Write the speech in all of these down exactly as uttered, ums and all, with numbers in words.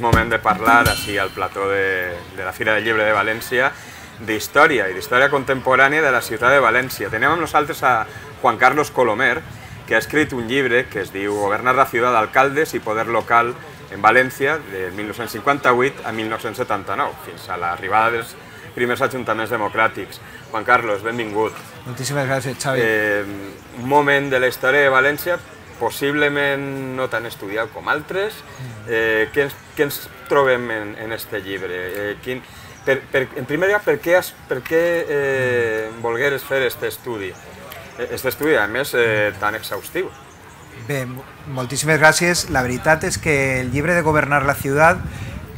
moment de parlar així al plató de, de la Fira del Llibre de València d'història i d'història contemporània de la ciutat de València. Tenim amb nosaltres a Juan Carlos Colomer, que ha escrit un llibre que es diu Gobernar la ciutat d'alcaldes i poder local en València de mil nou-cents cinquanta-vuit a mil nou-cents setanta-nou, fins a l'arribada dels primers ajuntaments democràtics. Juan Carlos, benvingut. Moltíssimes gràcies, Xavi. Eh, un moment de la història de València possiblement no tan estudiat com altres. Eh, què, ens, què ens trobem en, en este llibre? Eh, quin, per, per, en primer lloc, per què, has, per què eh, volgueres fer aquest estudi? Aquest estudi, a més, eh, tan exhaustiu. Bé, moltíssimes gràcies. La veritat és que el llibre de Gobernar la ciutat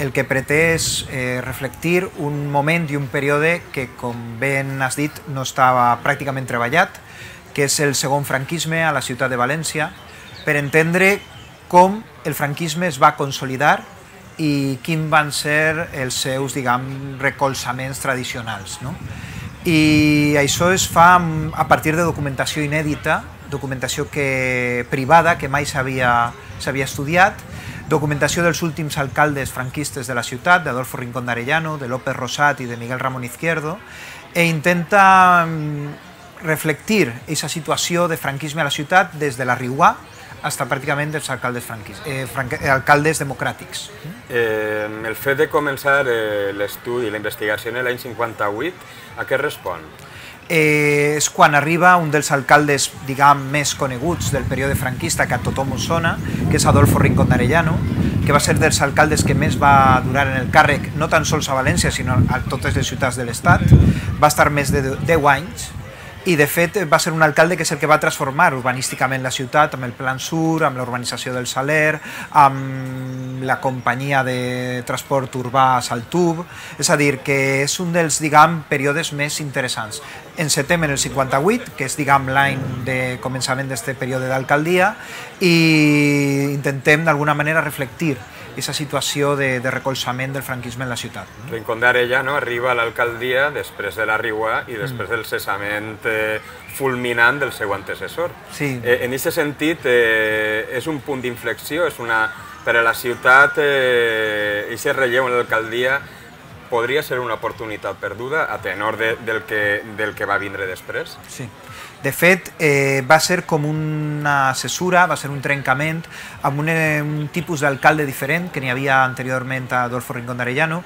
el que pretén és eh, reflectir un moment i un període que, com ben has dit, no estava pràcticament treballat, que és el segon franquisme a la ciutat de València, per entendre com el franquisme es va consolidar i quins van ser els seus, diguem, recolzaments tradicionals, no? I això es fa a partir de documentació inèdita, documentació que, privada, que mai s'havia estudiat, documentació dels últims alcaldes franquistes de la ciutat, d'Adolfo Rincón d'Arellano, de López Rosat i de Miguel Ramón Izquierdo, e intenta reflectir aquesta situació de franquisme a la ciutat des de la Riuà fins pràcticament dels alcaldes, eh, alcaldes democràtics. Eh, el fet de començar eh, l'estudi, la investigació en l'any cinquanta-vuit, a què respon? Eh, és quan arriba un dels alcaldes, diguem, més coneguts del període franquista, que a tothom us sona, que és Adolfo Rincón d'Arellano, que va ser dels alcaldes que més va durar en el càrrec, no tan sols a València, sinó a totes les ciutats de l'Estat. Va estar més de deu anys, i de fet va ser un alcalde que és el que va transformar urbanísticament la ciutat, amb el Plan Sur, amb la urbanització del Saler, amb la companyia de transport urbà Saltub, és a dir, que és un dels, diguem, períodes més interessants. Encetem en el cinquanta-vuit, que és, diguem, l'any de començament d'aquest període d'alcaldia, i intentem d'alguna manera reflectir aquesta situació de, de recolzament del franquisme en la ciutat. Rincón d'Arellano arriba a l'alcaldia després de la Riuà i després del cessament eh, fulminant del seu antecessor. Sí. Eh, en aquest sentit, eh, és un punt d'inflexió, és una... per a la ciutat, eh, aquest relleu en l'alcaldia podria ser una oportunitat perduda a tenor de, del, que, del que va vindre després? Sí. De fet, eh, va ser com una cesura, va ser un trencament amb un, un tipus d'alcalde diferent que n'hi havia anteriorment a Adolfo Rincón d'Arellano,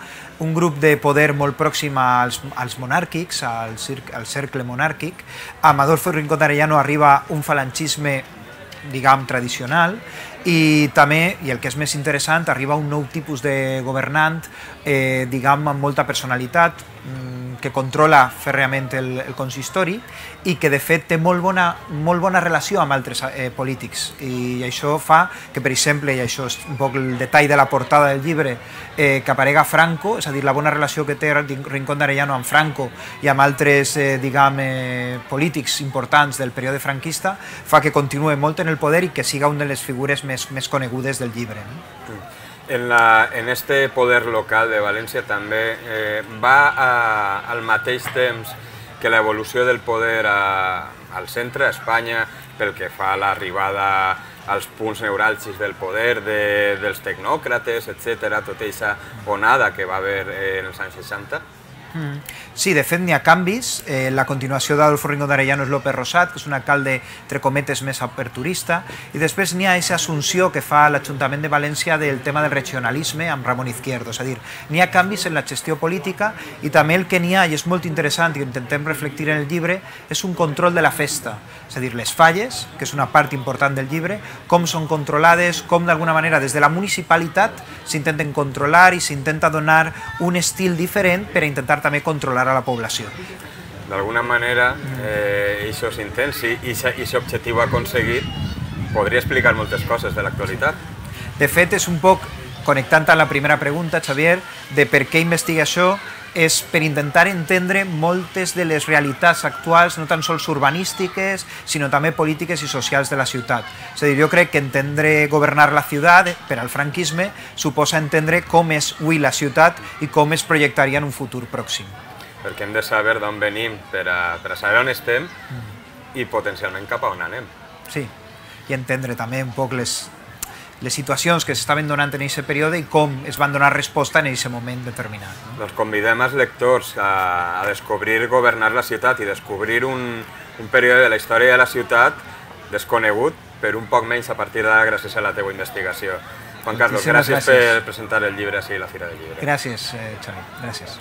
un grup de poder molt pròxim als, als monàrquics, al, al cercle monàrquic. Amb Adolfo Rincón d'Arellano arriba un falangisme, diguem, tradicional, i també, i el que és més interessant, arriba un nou tipus de governant, eh, diguem, amb molta personalitat, que controla fèrreament el, el consistori i que de fet té molt bona, molt bona relació amb altres eh, polítics, i això fa que, per exemple, i això és un poc el detall de la portada del llibre, eh, que aparega Franco, és a dir, la bona relació que té Rincón d'Arellano amb Franco i amb altres eh, diguem, eh, polítics importants del període franquista, fa que continue molt en el poder i que siga una de les figures més, més conegudes del llibre. No? En, la, en este poder local de València també eh, va a, al mateix temps que l'evolució del poder a, al centre, a Espanya, pel que fa a l'arribada als punts neuràlgics del poder, de, dels tecnòcrates, etcètera, tota aquesta onada que va haver eh, en els anys seixanta? Mm. Sí, de fet n'hi ha canvis. Eh, la continuació d'Adolfo Rincón d'Arellano és López Rosat, que és un alcalde, entre cometes, més aperturista, i després n'hi ha aquesta assumpció que fa l'Ajuntament de València del tema del regionalisme amb Ramón Izquierdo, és a dir, n'hi ha canvis en la gestió política i també el que n'hi ha, i és molt interessant i intentem reflectir en el llibre, és un control de la festa, és a dir, les falles, que és una part important del llibre, com són controlades, com d'alguna manera des de la municipalitat s'intenten controlar i s'intenta donar un estil diferent per a intentar també controlar a la població. D'alguna manera, aquests intents i aquest objectiu aconseguit podria explicar moltes coses de l'actualitat. De fet, és un poc, connectant amb la primera pregunta, Xavier, de per què investiga això, és per intentar entendre moltes de les realitats actuals, no tan sols urbanístiques, sinó també polítiques i socials de la ciutat. És a dir, jo crec que entendre governar la ciutat per al franquisme suposa entendre com és avui la ciutat i com es projectaria en un futur pròxim. Perquè hem de saber d'on venim per a, per a saber on estem i potencialment cap a on anem. Sí, i entendre també un poc les... les situacions que s'estaven donant en aquest període i com es van donar resposta en aquest moment determinat. No? Doncs convidem els lectors a, a descobrir governar la ciutat i descobrir un, un període de la història de la ciutat desconegut, per un poc menys a partir d'ara gràcies a la teva investigació. Juan Carlos, gràcies, gràcies per presentar el llibre així a la Fira del Llibre. Gràcies, eh, Xavi, gràcies.